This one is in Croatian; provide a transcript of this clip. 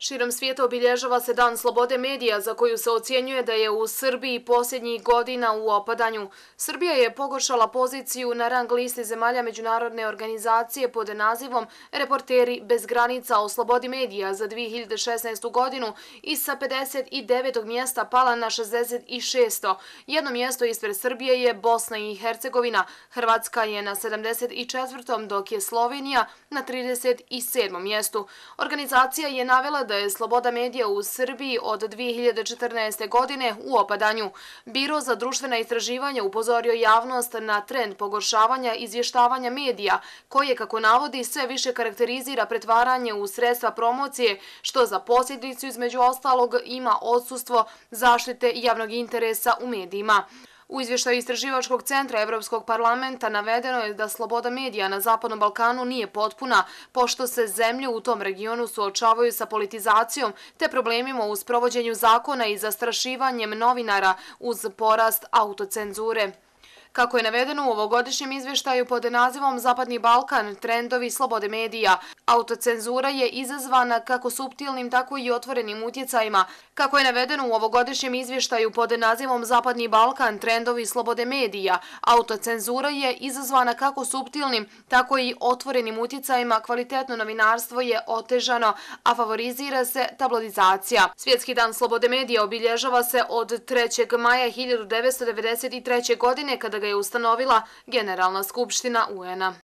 Širom svijeta obilježava se Dan slobode medija za koju se ocjenjuje da je u Srbiji posljednjih godina u opadanju. Srbija je pogoršala poziciju na rang listi zemalja međunarodne organizacije pod nazivom Reporteri bez granica o slobodi medija za 2016. godinu i sa 59. mjesta pala na 66. Jedno mjesto ispred Srbije je Bosna i Hercegovina, Hrvatska je na 74. dok je Slovenija na 37. mjestu. Organizacija je navela da je sloboda medija u Srbiji od 2014. godine u opadanju. Biro za društvena istraživanja upozorio javnost na trend pogoršavanja izvještavanja medija, koje, kako navodi, sve više karakterizira pretvaranje u sredstva promocije, što za posljedicu između ostalog ima odsustvo zaštite javnog interesa u medijima. U izvještaju Istraživačkog centra Evropskog parlamenta navedeno je da sloboda medija na Zapadnom Balkanu nije potpuna, pošto se zemlje u tom regionu suočavaju sa politizacijom te problemima u sprovođenju zakona i zastrašivanjem novinara uz porast autocenzure. Kako je navedeno u ovogodišnjem izvještaju pod nazivom Zapadni Balkan, trendovi slobode medija, autocenzura je izazvana kako suptilnim, tako i otvorenim utjecajima. Kako je navedeno u ovogodišnjem izvještaju pod nazivom Zapadni Balkan, trendovi slobode medija, autocenzura je izazvana kako suptilnim, tako i otvorenim utjecajima, kvalitetno novinarstvo je otežano, a favorizira se tabloidizacija. Svjetski dan slobode medija obilježava se od 3. maja 1993. godine, kada ga je ustanovila Generalna skupština UN-a.